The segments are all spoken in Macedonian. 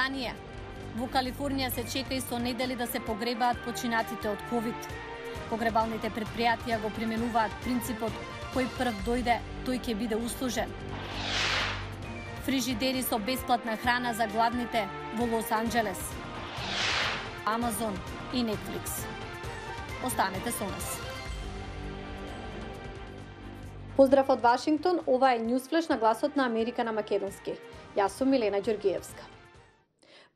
Британија. Во Калифорнија се чека и со недели да се погребаат починатите од ковид. Погребалните предпријатија го применуваат принципот кој прв дојде, тој ќе биде услужен. Фрижидери со бесплатна храна за гладните во Лос Анџелес. Амазон и Netflix. Останете со нас. Поздрав од Вашингтон, ова е Newsflash на гласот на Америка на македонски. Јас сум Милена Ѓоргиевска.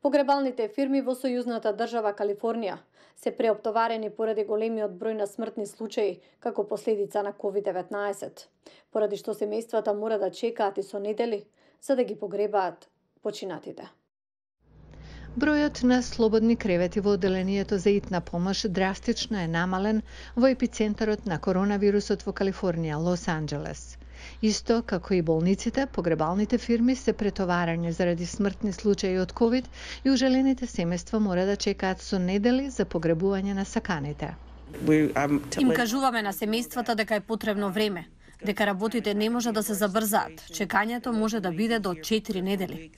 Погребалните фирми во сојузната држава Калифорнија се преоптоварени поради големиот број на смртни случаи како последица на COVID-19, поради што семејствата мора да чекаат и со недели за да ги погребаат починатите. Бројот на слободни кревети во одделението за итна помош драстично е намален во епицентарот на коронавирусот во Калифорнија, Лос Анџелес. Исто како и болниците, погребалните фирми се претоварени заради смртни случаи од ковид и ужелените семејства мора да чекаат со недели за погребување на саканите. Им кажуваме на семејствата дека е потребно време, дека работите не може да се забрзаат. Чекањето може да биде до 4 недели.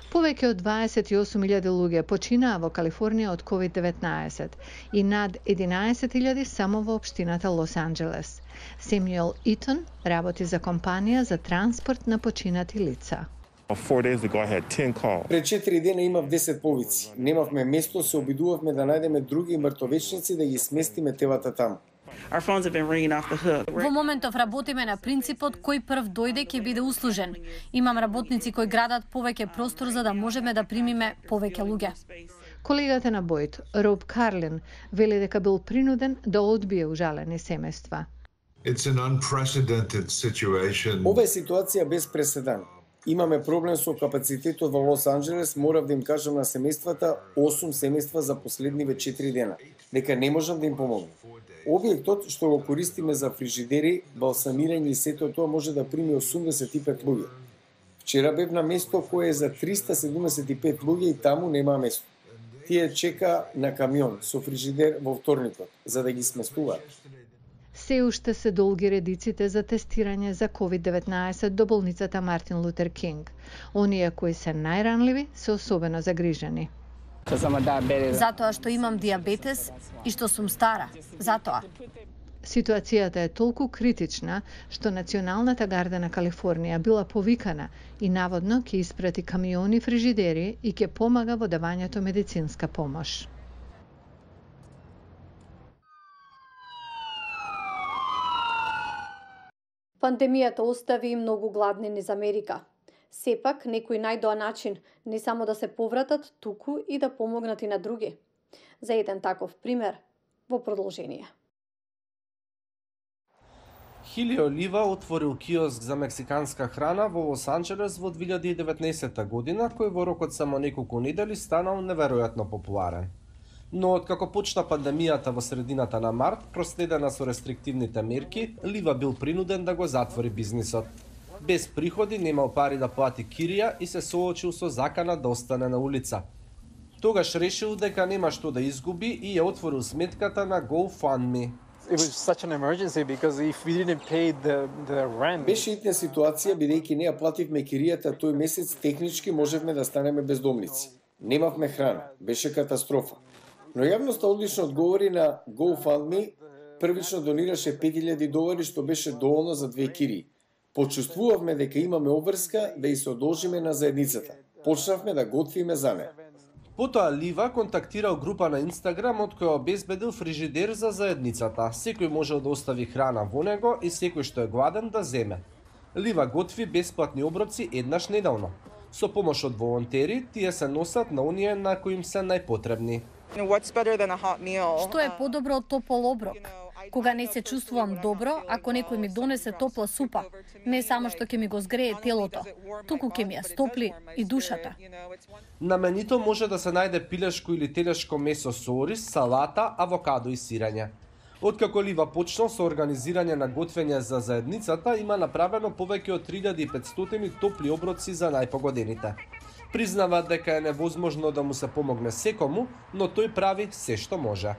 Повеќе од 28.000 луѓе починаа во Калифорнија од COVID-19 и над 11.000 само во општината Лос Анџелес. Семјуел Итон работи за компанија за транспорт на починати лица. Пред 4 дена имав 10 повици. Немавме место, се обидувавме да најдеме други мртовечници да ги сместиме телата таму. Во моментов работиме на принципот кој прв дојде ќе биде услужен. Имам работници кои градат повеќе простор за да можеме да примиме повеќе луѓе. Колегата на Бојд, Роб Карлин, вели дека бил принуден да одбие ужалени семејства. Ова е ситуација без преседан. Имаме проблем со капацитетот во Лос Анџелес, морав да им кажам на семејствата 8 семејства за последниве 4 дена, дека не можам да им помогнам. Објектот што го користиме за фрижидери, балсамирање и сето тоа може да прими 85 луѓе. Вчера бев на место кое е за 375 луѓе и таму нема место. Тие чека на камион со фрижидер во вторникот, за да ги сместуваат. Се уште се долги редиците за тестирање за COVID-19 до болницата Мартин Лутер Кинг. Оние кои се најранливи се особено загрижени. Затоа што имам диабетес и што сум стара. Затоа. Ситуацијата е толку критична што Националната гарда на Калифорнија била повикана и наводно ќе испрати камиони фрижидери и ќе помага во давањето медицинска помош. Пандемијата остави многу гладни низ Америка. Сепак, некои најдоа начин не само да се повратат, туку и да помогнат и на други. За еден таков пример во продолжение. Хилио Лива отворил киоск за мексиканска храна во Лос Анџелес во 2019 година, кој во рокот само неколку недели станал неверојатно популарен. Но откако почна пандемијата во средината на март, проследена со рестриктивните мерки, Лива бил принуден да го затвори бизнисот. Без приходи, немал пари да плати кирија и се соочил со закана да остане на улица. Тогаш решил дека нема што да изгуби и ја отворил сметката на GoFundMe. Беше итна ситуација, бидејќи не ја плативме киријата тој месец, технички можевме да станеме бездомници. Немавме храна, беше катастрофа. Но јавноста одлично одговори на GoFundMe, првично донираше $5000 што беше доволно за 2 кирии. Почувствувавме дека имаме обврска да и се одолжиме на заедницата. Почнавме да готвиме за неа. Потоа Лива контактирал група на Инстаграм од која обезбедил фрижидер за заедницата. Секој можел да остави храна во него и секој што е гладен да земе. Лива готви бесплатни оброци еднаш неделно. Со помош од волонтери, тие се носат на оние на кои им се најпотребни. Што е подобро од топол оброк? Кога не се чувствувам добро, ако некој ми донесе топла супа, не само што ќе ми го згрее телото, туку ќе ми ја стопли и душата. На менито може да се најде пилешко или телешко месо со ориз, салата, авокадо и сирење. Откако Лива почнал со организирање на готвење за заедницата, има направено повеќе од 3500 топли оброци за најпогодените. Признава дека е невозможно да му се помогне секому, но тој прави се што може.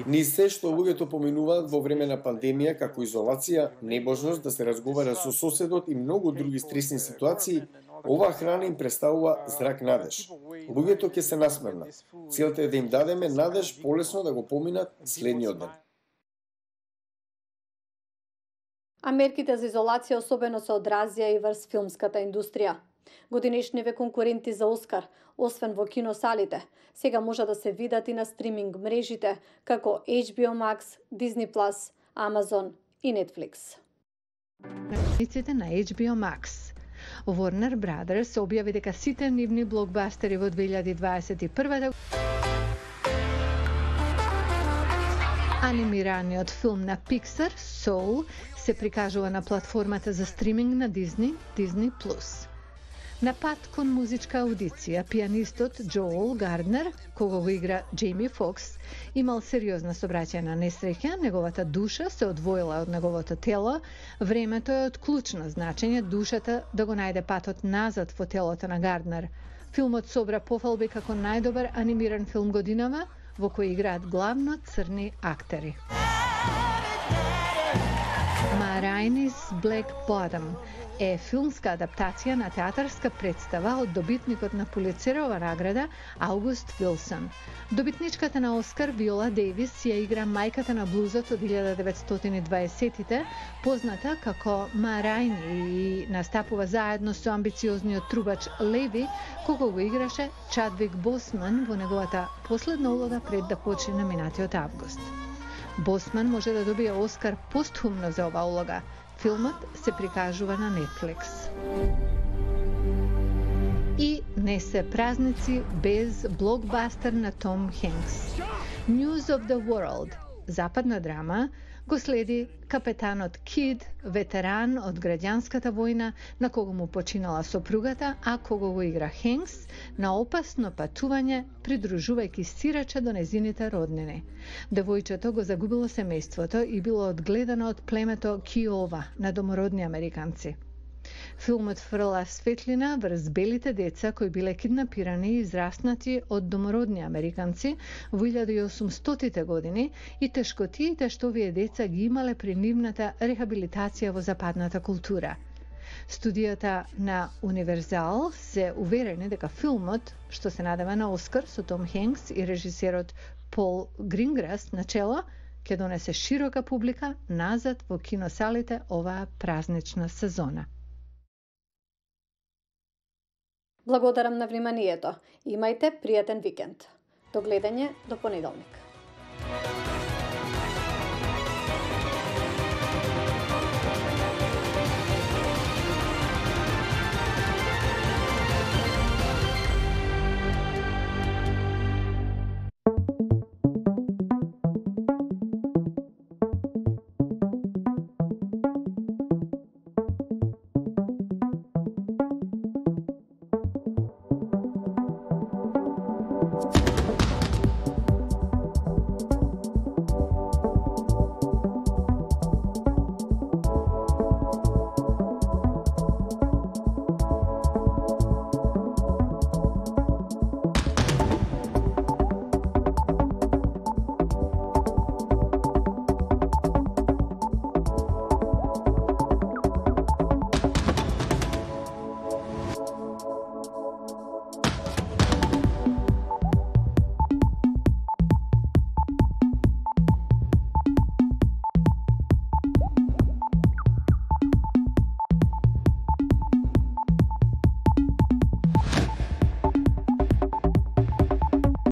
Ни се што луѓето поминуваат во време на пандемија, како изолација, неможност да се разговара со соседот и многу други стресни ситуации, Оваа храна им представува зрак надеж. Луѓето ќе се насмевнат. Целта е да им дадеме надеж полесно да го поминат следниот ден. А мерките за изолација особено се одразија и врз филмската индустрија. Годинешниве конкуренти за Оскар, освен во киносалите, сега може да се видат и на стриминг мрежите, како HBO Max, Disney+, Amazon и Netflix. На HBO Max. Warner Brothers објави дека сите нивни блокбастери во 2021 анимираниот филм на Pixar, Soul, се прикажува на платформата за стриминг на Disney+. На пат кон музичка аудиција, пианистот Джоел Гарднер, кого го игра Джейми Фокс, имал сериозна сообраќајна несреќа, неговата душа се одвоила од неговото тело, времето е од клучно значење душата да го најде патот назад во телото на Гарднер. Филмот собра пофалби како најдобар анимиран филм годинава, во кој играат главно црни актери. Ma Rainey's Black Bottom е филмска адаптација на театарска представа од добитникот на Пулицерова награда Аугуст Вилсон. Добитничката на Оскар Виола Дейвис ја игра мајката на блузот од 1920-тите, позната како Ма Рајни, и настапува заедно со амбициозниот трубач Леви, кого го играше Чадвик Босман во неговата последна улога пред да почине минатиот август. Босман може да добие Оскар постхумно за оваа улога. Филмот се прикажува на Netflix. И не се празници без блокбастер на Том Хенкс. News of the World, западна драма, го следи капетанот Кид, ветеран од граѓанската војна, на кого му починала сопругата, а кого го игра Хенкс, на опасно патување, придружувајќи сирача до незините роднини. Девојчето го загубило семејството и било одгледано од племето Киова на домородни американци. Филмот фрла светлина врз белите деца кои биле киднапирани и израснати од домородни американци во 1800-тите години и тешкотиите што овие деца ги имале при нивната рехабилитација во западната култура. Студијата на Универзал се уверени дека филмот, што се надева на Оскар со Том Хенкс и режисерот Пол Гринграс на чело, ќе донесе широка публика назад во киносалите оваа празнична сезона. Благодарам на вниманието. Имајте пријатен викенд. До гледање до понеделник. You